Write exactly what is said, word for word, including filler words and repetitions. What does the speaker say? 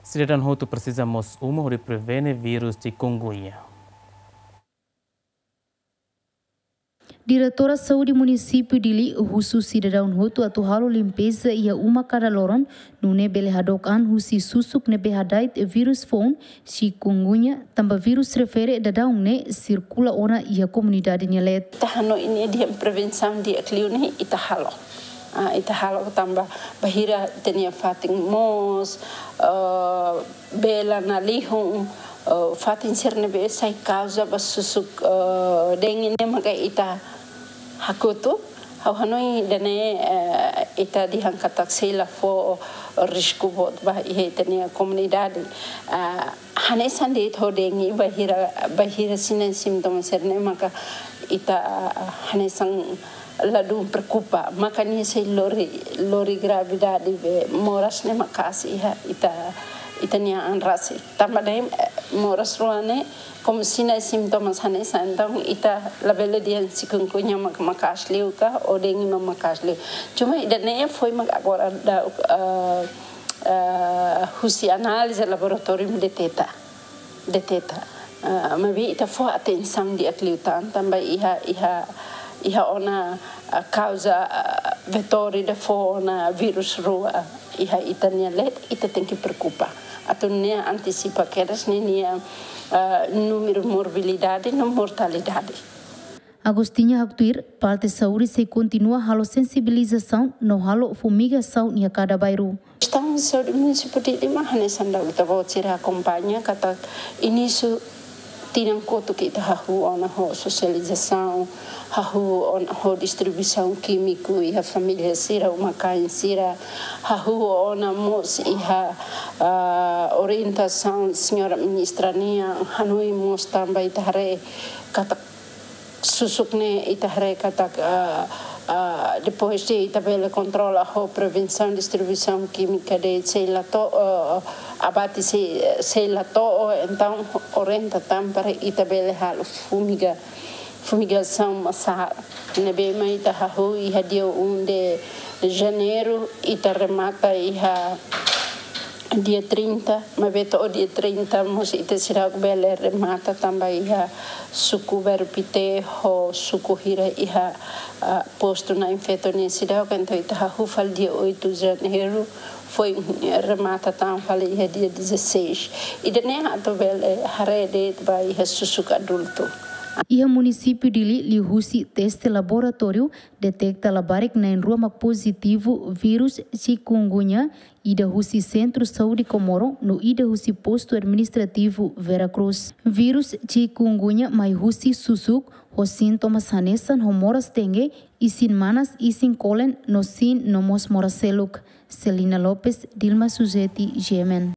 Sidadaun hotu presiza mós uma hodi prevene vírus chikungunya. Diretora Saúde Munisípiu Dili husu sidadaun hotu atu halo limpeza iha uma kada loron, nune'e bele hadook an husi susuk ne'ebé hada'et vírus foun chikungunya, tanba vírus refere daudaun ne'e sirkula ona iha komunidade nia leet. Ita hanoin ne'e dehan prevensaun di'ak liu ne'e ita halo. Ah, ita halo tanba bainhira ita-nia fatin moos, eh, bee la nalihun, eh, fatin sira ne'ebé sai kauza ba susuk, eh, dengue ne'e maka ita hakotu. Ha'u hanoin ida-ne'e, eh, ita dehan katak sei la fó risku boot ba iha ita-nia komunidade. Ah, hanesan de'it ho dengue bainhira, bainhira sinais sintomas sira-ne'e maka ita, ah, hanesan ladún preokupa, maka nia sei lori, lori gravidade be moras ne'e maka'as iha ita, ita-nia an rasik. Tanba dehan, eh, moras rua ne'e, komu sinais sintomas hanesan, entaun ita labele dehan chikungunya mak-, maka'as liu ka, ou dengue mak-, maka'as liu. Cuma ida-ne'e foin mak agora daudaun, eh, eh, husi análize laboratóriu deteta. Deteta. Ah, maibé ita fó atensaun di'ak liután, tanba iha, iha, iha ona, ah, kauza, ah, vetór ida fó ona vírus rua iha ita-nia leet, ita tenke preokupa. Atu nune'e antisipa kedas ne'e nia, ah, númeru morbilidade no mortalidade. Agostinha haktuir, parte saúde sei kontinua halo sensibilizasaun no halo fumigasaun iha kada bairru. Gestaun Saúde Munisípiu Dili mak hanesan daudaun ita-boot sira akompaña katak inísiu tinan kotuk ita hahú ona ho sosializasaun, hahú ona ho distribuisaun kímiku iha família sira, uma-kain sira, hahú ona mós iha, ah, orientasaun señora ministra nian, hanoin mós tanba ita haree katak susuk ne'e ita haree katak, ah, ah, depois de ita bele kontrola ho prevensaun distribuisaun kímika de'it sei la to'o, ah, abate sei, sei la to'o, entaun orienta tan para ita bele halo fumiga, fumigasaun masá. Ne'ebé mak ita hahú iha dia um de janeiro, ita remata iha dia trinta, maibé to'o dia trinta mós ita seidauk bele remata tanba iha suku Bairru Pité ho suku hira iha, ah, postu na'in-feto nian seidauk, entaun ita hahú fali dia oito de janeiro, foin remata tan fali iha dia dezasseis. Ida-ne'e atu bele haree de'it ba iha susuk adultu. Iha Munisípiu Dili liuhusi teste laboratóriu deteta labarik na'in-rua mak pozitivu vírus chikungunya, ida husi Sentru Saúde Comoro no ida husi Postu Administrativu Vera Cruz. Vírus chikungunya mai husi susuk ho sintomas hanesan ho moras dengue, isin manas, isin kolen no siin no mós moras seluk. Celina Lopes, Dilma Suzeti, G M N.